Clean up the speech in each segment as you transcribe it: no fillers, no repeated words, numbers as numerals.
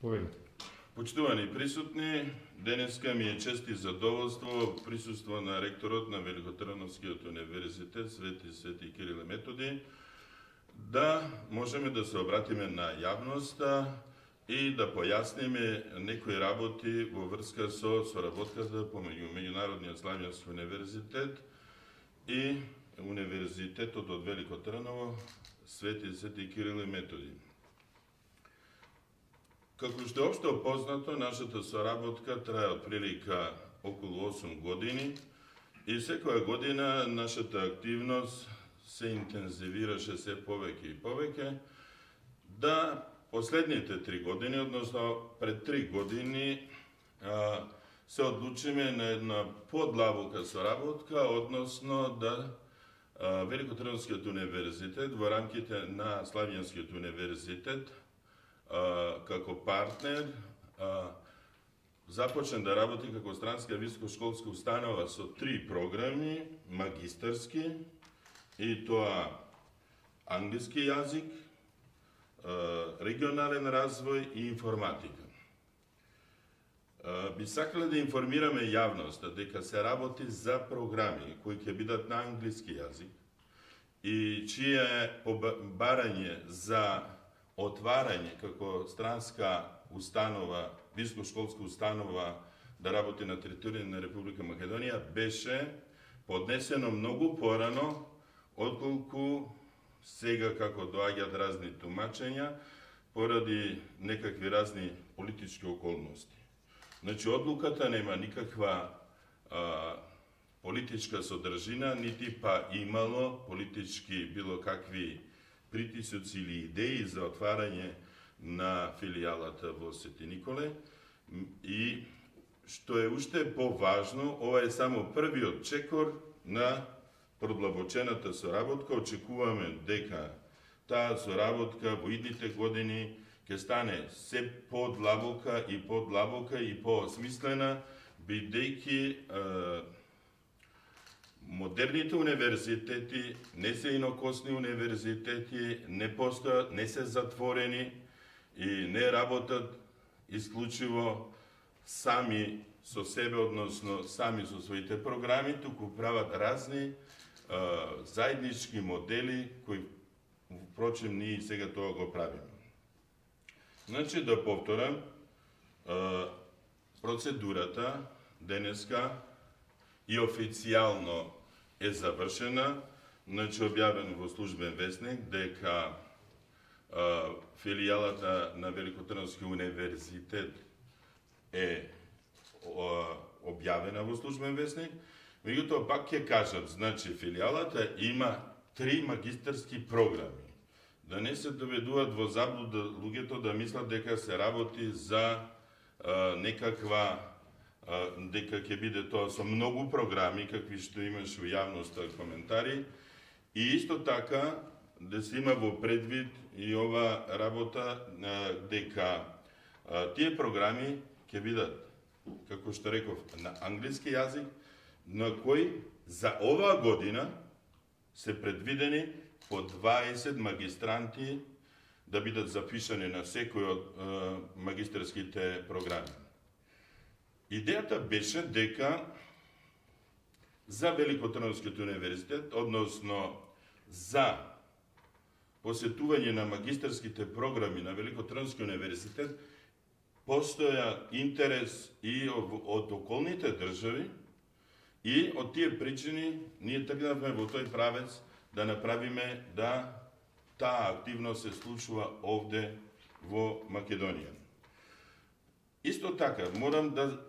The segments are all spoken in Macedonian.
Повелете. Почитувани присутни, денеска ми е чест и задоволство присуство на ректорот на Великотрновскиот универзитет Свети Кирил и Методи да можеме да се обратиме на јавноста и да појасниме некои работи во врска со соработката помеѓу Меѓународниот славјански универзитет и Универзитетот од Велико Трново Свети Кирил и Методи. Како што е општо познато, нашата соработка трае отприлика околу 8 години и секоја година нашата активност се интензивираше се повеќе и повеќе, да последните 3 години, односно пред 3 години, се одлучиме на една подлабока соработка, односно да Великотрновскиот универзитет во рамките на Славјанскиот универзитет како партнер започне да работи како странска високошколска установа со 3 програми магистарски, и тоа англиски јазик, регионален развој и информатика. Би сакале да информираме јавноста дека се работи за програми кои ќе бидат на англиски јазик и чие барање за отварање како странска установа, високошколска установа да работи на територија на Република Македонија беше поднесено многу порано отколку сега како доаѓаат разни тумачења поради некакви разни политички околности. Значи, одлуката нема никаква политичка содржина, нити па имало политички било какви притисоци или идеи за отварање на филијалата во Свети Николе. И што е уште поважно, ова е само првиот чекор на продлабочената соработка. Очекуваме дека таа соработка во идните години ќе стане се подлабока и поосмислена, бидејќи модерните универзитети не се инокосни универзитети, не постојат, не се затворени и не работат исклучиво сами со себе, односно сами со своите програми, туку прават разни заеднички модели кои, впрочем, ние сега тоа го правиме. Значи, да повторам, процедурата денеска и официјално е завршена, значи објавено во службен весник дека филијалата на Великотрновски универзитет е објавена во службен весник. Меѓутоа пак ќе кажат, значи филијалата има 3 магистарски програми. Да не се доведуваат во заблуда луѓето да мислат дека се работи за некаква дека ќе биде тоа со многу програми, какви што имаш во јавноста коментари, и исто така да се има во предвид и ова работа дека тие програми ќе бидат, како што реков, на англиски јазик, на кои за оваа година се предвидени по 20 магистранти да бидат запишани на секој од магистерските програми. Идејата беше дека за Великотрновскиот универзитет, односно за посетување на магистерските програми на Великотрновскиот универзитет, постоја интерес и од околните држави, и од тие причини ние тргнавме во тој правец да направиме да таа активност се случува овде во Македонија. Исто така, морам да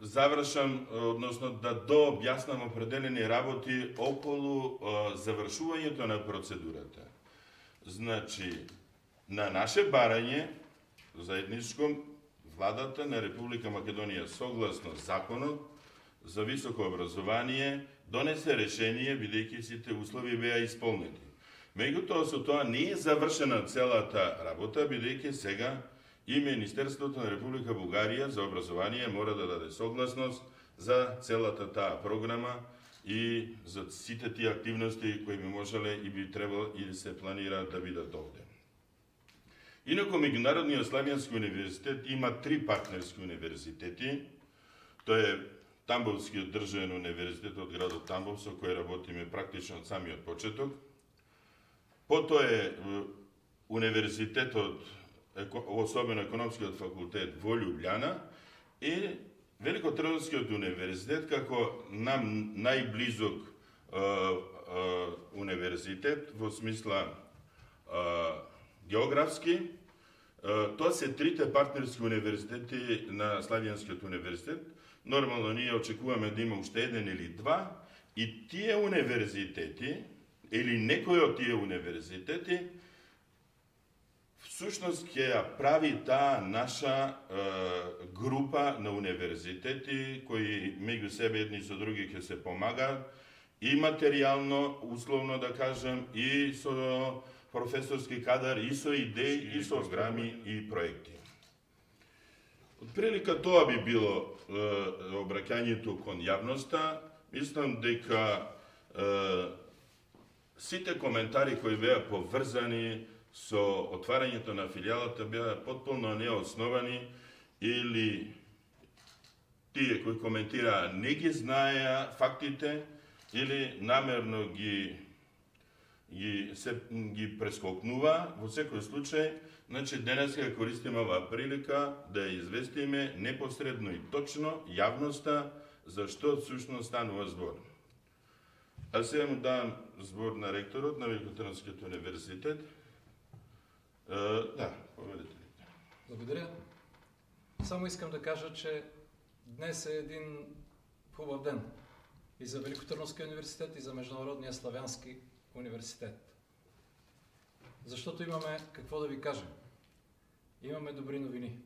завршам, односно да дообјаснам определени работи околу завршувањето на процедурата. Значи, на наше барање, заедничко, владата на Република Македонија согласно законот за високо образование донесе решение, бидејќи сите услови беа исполнети. Меѓутоа, со тоа не е завршена целата работа, бидејќи сега и Министерството на Република Бугарија за образование мора да даде согласност за целата таа програма и за сите тие активности кои би можеле и би требало и се планираат да бидат овде. Инако Меѓународниот славјански универзитет има 3 партнерски универзитети. Тоа е Тамбовскиот државен универзитет од градот Тамбов, со кој работиме практично од самиот почеток. Потоа е универзитетот, особено економскиот факултет во Љубљана и Великотрновскиот универзитет како нам најблизок универзитет во смисла географски. Тоа се 3 партнерски универзитети на Славјанскиот универзитет. Нормално ние очекуваме да има уште 1 или 2 и тие универзитети или некој од тие универзитети всушност ќе ја прави таа наша група на универзитети кои меѓу себе едни со други ќе се помагаат и материјално, условно да кажем, и со професорски кадар, и со идеи, и со програми и проекти. Отприлика тоа би било обраќањето кон јавноста. Мислам дека сите коментари кои беа поврзани со отварањето на филијалата беа потполно неосновани или тие кои коментираа не ги знаеа фактите или намерно ги прескокнува. Во секој случај, значи денес ја користиме оваа прилика да ја известиме непосредно и точно јавноста за што всушност станува збор. А сега му давам збор на ректорот на Великотрновскиот универзитет. Да, поведете ли. Благодаря. Само искам да кажа, че днес е един хубав ден и за Великотърновския университет, и за Международния славянски университет. Защото имаме какво да ви кажем. Имаме добри новини.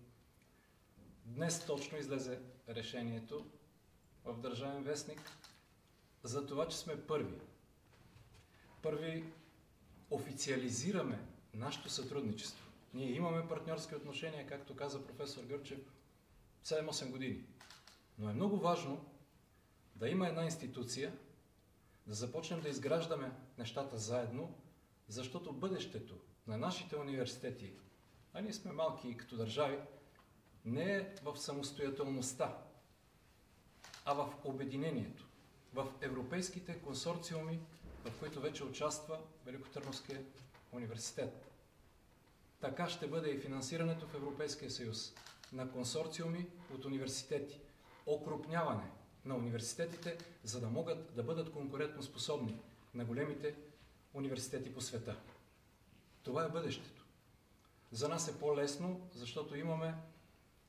Днес точно излезе решението в Държавен вестник за това, че сме първи. Първи официализираме нашето сътрудничество. Ние имаме партньорски отношения, както каза професор Гърчев, 7-8 години. Но е много важно да има една институция, да започнем да изграждаме нещата заедно, защото бъдещето на нашите университети, а ние сме малки и като държави, не е в самостоятелността, а в обединението, в европейските консорциуми, в които вече участва Великотърновския университет. Така ще бъде и финансирането в Европейския съюз на консорциуми от университети, окрупняване на университетите, за да могат да бъдат конкурентно способни на големите университети по света. Това е бъдещето. За нас е по-лесно, защото имаме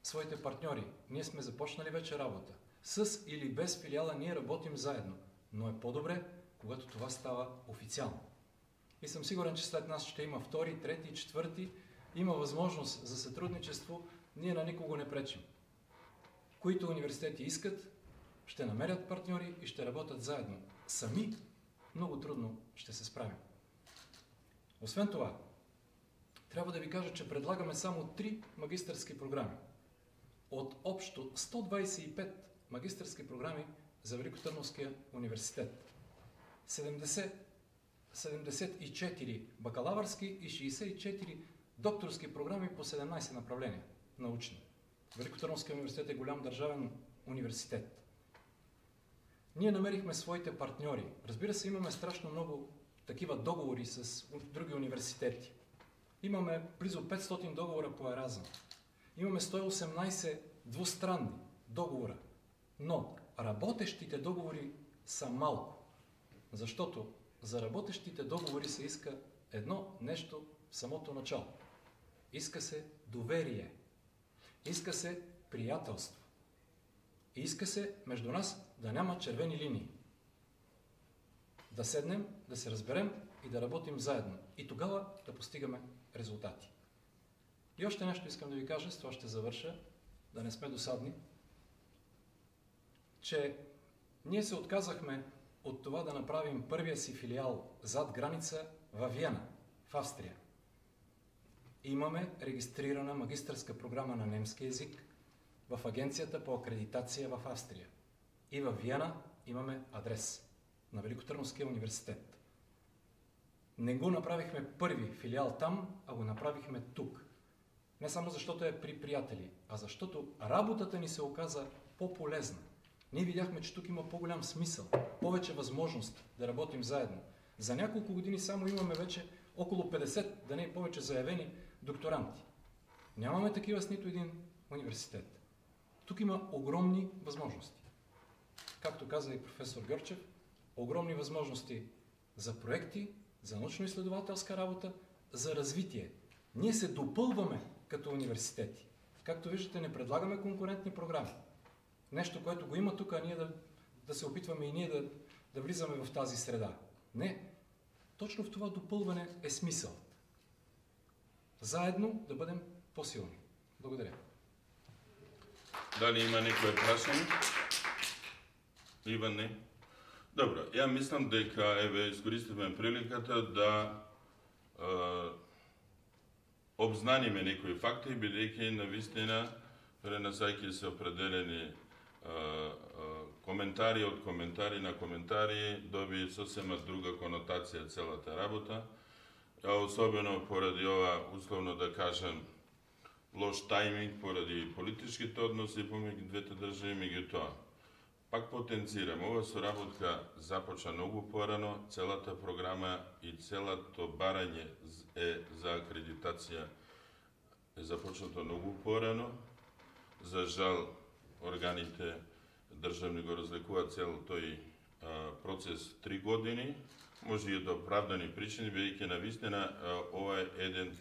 своите партньори. Ние сме започнали вече работа. С или без филиала ние работим заедно, но е по-добре, когато това става официално. И съм сигурен, че след нас ще има втори, трети, четвърти. Има възможност за сътрудничество, ние на никого не пречим. Които университети искат, ще намерят партньори и ще работят заедно. Сами много трудно ще се справим. Освен това, трябва да ви кажа, че предлагаме само 3 магистърски програми. От общо 125 магистърски програми за Великотърновския университет. 74 бакалавърски и 64 докторски програми по 17 направления научни. Великотърновския университет е голям държавен университет. Ние намерихме своите партньори. Разбира се, имаме страшно много такива договори с други университети. Имаме близо 500 договора по Еразъм. Имаме 118 двустранни договора. Но работещите договори са малко. Защото за работещите договори се иска едно нещо в самото начало. Иска се доверие. Иска се приятелство. И иска се между нас да няма червени линии. Да седнем, да се разберем и да работим заедно. И тогава да постигаме резултати. И още нещо искам да ви кажа, с това ще завърша, да не сме досадни, че ние се отказахме от това да направим първия си филиал зад граница във Виена, в Австрия. Имаме регистрирана магистърска програма на немски език в Агенцията по акредитация в Австрия. И във Виена имаме адрес на Великотърновския университет. Не го направихме първи филиал там, а го направихме тук. Не само заштото е при пријатели, а заштото работата ни се оказа по-полезна. Ние видяхме, че тук има по-голям смисъл, повече възможност да работим заедно. За няколко години само имаме вече около 50, да не е повече заявени докторанти. Нямаме такива с нито един университет. Тук има огромни възможности. Както каза и професор Гърчев, огромни възможности за проекти, за научно-изследователска работа, за развитие. Ние се допълваме като университети. Както виждате, не предлагаме конкурентни програми. Нещо, което го има тук, а ние да се опитваме и ние да влизаме в тази среда. Не. Точно в това допълване е смисъл. Заедно да бъдем по-силни. Благодаря. Дали има некој прашање? Иван, не? Добро, ја мислам дека искористиме приликата да обзнаниме некои факти, бидејќи навистина пренасајќи се определени коментари од коментари на коментари, доби сосема друга конотација целата работа, особено поради ова, условно да кажем, лош тајминг, поради политичките односи помеѓу двете држави, меѓутоа. Пак потенцирам, ова соработка започна многу порано, целата програма и целото барање за акредитација е започнато многу порано. За жал, органите државни го разлекуваат цел тој процес 3 години, може и од оправдани причини, бидејќи навистина ова е еден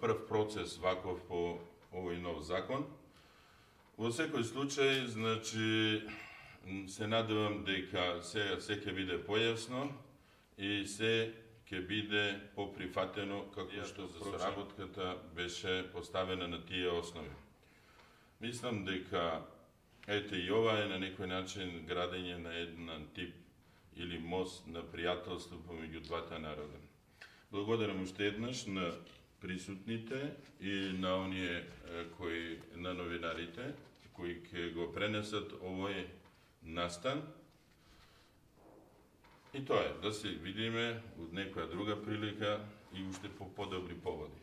прв процес ваков по овој нов закон. Во секој случај, значи, се надевам дека се ќе биде појасно и се ќе биде поприфатено како што за соработката беше поставена на тие основи. Мислам дека ете и ова е на некој начин градење на еден тип или мост на пријателство помеѓу двата народа. Благодарам уште еднаш на присутните и на оние на новинарите кои ќе го пренесат овој настан. И тоа е, да се видиме од некоја друга прилика и уште по подобри поводи.